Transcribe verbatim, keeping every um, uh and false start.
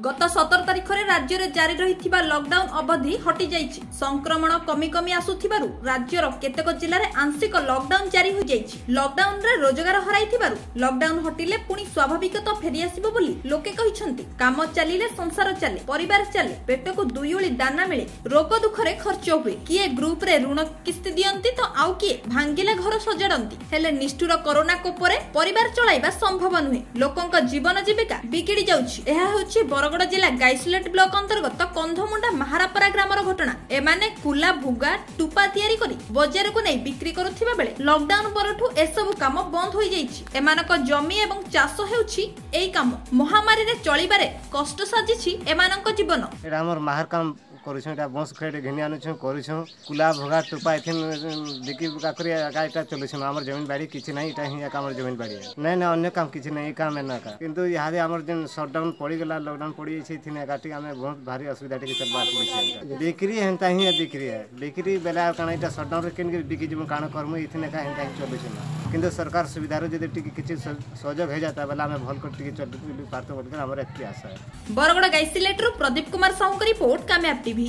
ଗତ ସତର ତାରିଖରେ ରାଜ୍ୟରେ ଜାରି ରହିଥିବା ଲକଡାଉନ ଅବଧି ହଟିଯାଇଛି। ସଂକ୍ରମଣ କମି କମି ଆସୁଥିବାରୁ ରାଜ୍ୟର କେତେକ ଜିଲ୍ଲାରେ ଆଂଶିକ ଲକଡାଉନ ଜାରି ହୋଇଯାଇଛି। ଲକଡାଉନରେ ରୋଜଗାର ହରାଇଥିବାରୁ ଲକଡାଉନ ହଟିଲେ ପୁଣି ସ୍ୱାଭାବିକତା ଫେରିଆସିବ ବୋଲି ଲୋକେ କହିଛନ୍ତି। କାମ ଚାଲିଲେ ସଂସାର ଚାଲେ, ପରିବାର ଚାଲେ, ପେଟକୁ ଦୁଇ ଓଳି ଦାନା ମିଳେ, ରୋଗ ଦୁଃଖରେ ଖର୍ଚ୍ଚ ହୁଏ। କିଏ ଗ୍ରୁପରେ ଋଣ କିସ୍ତି ଦିଅନ୍ତି ତ ଆଉ କିଏ ଭାଙ୍ଗିଲେ ଘର ସଜାଡନ୍ତି। ହେଲେ ନିଷ୍ଠୁର କରୋନା କୋପରେ ପରିବାର ଚଳାଇବା ସମ୍ଭବ ନୁହେଁ। ଲୋକଙ୍କ ଜୀବନ ଜୀବିକା ବିଗିଡି ଯାଉଛି। ଏହା ହେଉଛି ବରଗଡ଼ ଜିଲ୍ଲା ଗାଇସିଲେଟ ବ୍ଲକ ଅନ୍ତର୍ଗତ କନ୍ଧମୁଣ୍ଡା ମାହାରାପରା ଗ୍ରାମର ଘଟଣା। ଏମାନେ କୁଲା, ଭୁଗା, ଟୁପା ତିଆରି କରି ବଜାରକୁ ନେଇ ବିକ୍ରି କରୁଥିବା ବେଳେ ଲକଡାଉନ ପରଠୁ ଏସବୁ କାମ ବନ୍ଦ ହୋଇଯାଇଛି। ଏମାନଙ୍କ ଜମି ଏବଂ ଚାଷ ହେଉଛି ଏଇ କାମ। ମହାମାରୀରେ ଚଳିବାରେ କଷ୍ଟ ସାଜିଛି ଏମାନଙ୍କ ଜୀବନ। ଏଇଟା ଆମର ମାହାର କାମ କରୁଛୁଁ। ଏଇଟା ବଁଶ ଖେଡ଼ ଘିନି ଆନୁଛୁଁ, କରୁଛୁଁ। କୁଲା, ଭୁଗା, ଟୁପା ଏଥିନ୍ ବିକି ବୁକା କରି ଏକା ଏଇଟା ଚଲୁଛୁଁ। ଆମର ଜମିନ ବାଡ଼ି କିଛି ନାହିଁ, ଏଇଟା ହିଁ ଏକା ଆମର ଜମିନ ବାଡ଼ି। ନାଇଁ ନାଇଁ, ଅନ୍ୟ କାମ କିଛି ନାହିଁ, ଏଇ କାମ ଏନା ଏକା। କିନ୍ତୁ ଇହାଦେ ଆମର ଯେନ୍ ସଟଡାଉନ୍ ପଡ଼ିଗଲା, ଲକଡାଉନ୍ ପଡ଼ିଯାଇଛି, ଏଥିନ୍ ଏକା ଟିକେ ଆମେ ବହୁତ ଭାରି ଅସୁବିଧା ଟିକେ ଚଲବାର୍ ପଡ଼ୁଛେ। ବିକ୍ରି ହେନ୍ତା ହିଁ ବିକ୍ରି ହେ, ବିକ୍ରି ବେଲେ ଆଉ କାଣା, ଏଇଟା ସଟଡାଉନ୍ରେ କେନ୍ ବିକି ଯିମୁ, କାଣା କରମୁ? ଏଥିନ୍ ଏକା ହେନ୍ତା ହିଁ ଚଲୁଛୁଁ। କିନ୍ତୁ ସରକାର ସୁବିଧାରୁ ଯଦି ଟିକେ କିଛି ସହଯୋଗ ହେଇଯାତା ବେଲେ ଆମେ ଭଲ କରି ଟିକେ ଚଲି ପାରତୁ ବୋଲିକରି ଆମର ଏତ୍କି ଆଶା। ବରଗଡ଼ ଗାଇସିଲେଟରୁ ପ୍ରଦୀପ କୁମାର ସାହୁଙ୍କ ରିପୋର୍ଟ, କାମୟାବ ଟିଭି।